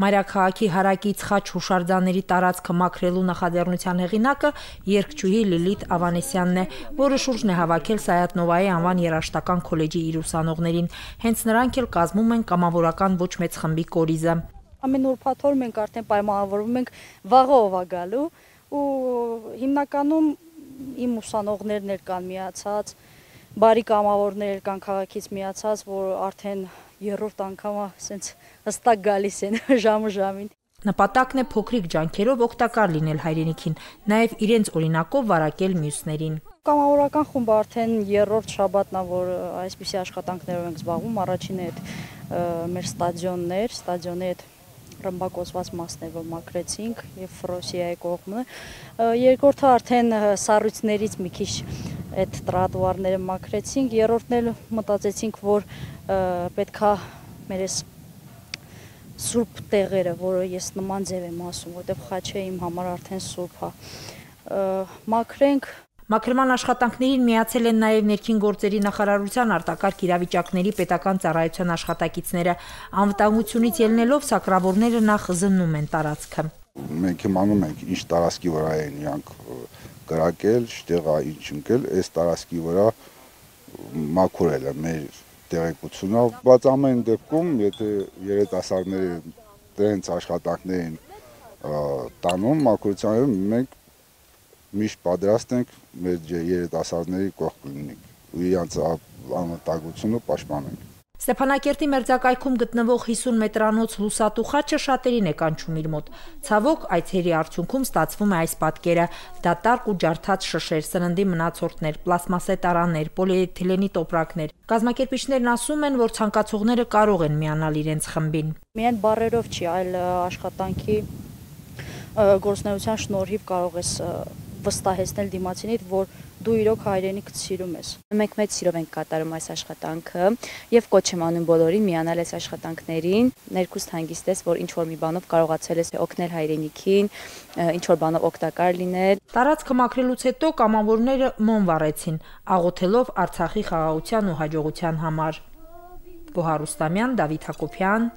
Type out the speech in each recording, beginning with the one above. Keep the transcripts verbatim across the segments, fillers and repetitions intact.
Մայրաքաղաքի հարակից խաչ հուշարձանների տարածքը մաքրելու նախաձեռնության հեղինակը երգչուհի Լիլիթ Ավանեսյանն է, որը շուրջն է հավաքել Սայաթ-Նովայի անվան երաժշտական քոլեջի իր ուսանողներին։ Հենց նրանք էլ կազմում են կամավորական ոչ մեծ խմբի կորիզը։ Ամեն ուրբաթ օր մենք արդեն պայմանավորվում ենք վաղը ով է գալու ու հիմնականում իմ ուսանողներն էլ կան միացած, բարի կամավորներ կան քաղաքից միացած, որ արդեն երրորդ անգամը ասենց հստակ գալիս են ժամը ժամին։ Նպատակն է փոքրիկ ջանքերով օգտակար լինել հայրենիքին, նաև իրենց օրինակով վարակել մյուսներին։ Կամավորական խումբը արդեն երրորդ շաբաթն է, որ այսպիսի աշխատանքներով ենք զբաղվում, առաջինը այդ մեր ստադիոններ, ստադիոնի այդ ռմբակոծված մասն է, որ մաքրեցինք եւ Ֆրոսիայի կողմը, երկրորդը արդեն սառույցներից մի քիչ այդ տրոտուարները մաքրեցինք, երրորդն էլ մտածեցինք, որ պետքա մեր այս սուրբ տեղերը, որը ես նման ձև եմ ասում, որտեղ խաչը իմ համար արդեն սուրբ է, մաքրենք։ Մաքրման աշխատանքներին միացել են նաև ներքին գործերի նախարարության արտակարգ իրավիճակների պետական ծառայության աշխատակիցները։ Անվտանգությունից ելնելով սակրավորները նախ զննում են տարածքը։ Մենք իմանում ենք ինչ տարածքի վրա են իրանք կրակել, շտեղա ինչ ընկել, այս տարածքի վրա մաքուրել է մեր տեղեկությունը, բայց ամեն դեպքում, եթե երիտասարդները դրանց աշխատանքներին տանում մաքրության, մենք միշտ պատրաստ ենք մեր երիտասարդների կողք լինենք ու իրանց անվտանգությունը պաշտպանենք։ Ստեփանակերտի մերձակայքում գտնվող հիսուն մետրանոց լուսատու խաչը շատերին է կանչում իր մոտ։ Ցավոք, այցերի արդյունքում ստացվում է այս պատկերը՝ դատարկ ու ջարդած շշեր, սննդի մնացորդներ, պլաստմասե տարաներ, պոլիէթիլենի տոպրակներ։ Կազմակերպիչներն ասում են, որ ցանկացողները կարող են միանալ իրենց խմբին։ Միայն բառերով չի, այլ աշխատանքի գործունեության շնորհիվ կարող ես վստահեցնել դիմացինիդ, որ դու իրոք հայրենիքդ սիրում ես։ Մենք մեծ սիրով ենք կատարում այս աշխատանքը եւ կոչ եմ անում բոլորին միանալ այս աշխատանքներին, ներքուստ հանգիստ ես, որ ինչ որ մի բանով կարողացել ես օգնել հայրենիքին, ինչ որ բանով օգտակար լինել։ Տարածքը մաքրելուց հետո կամավորները մոմ վառեցին, աղոթելով Արցախի խաղաղության ու հաջողության համար։ Գոհար Ռուստամյան, Դավիթ Հակոբյան,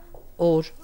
օր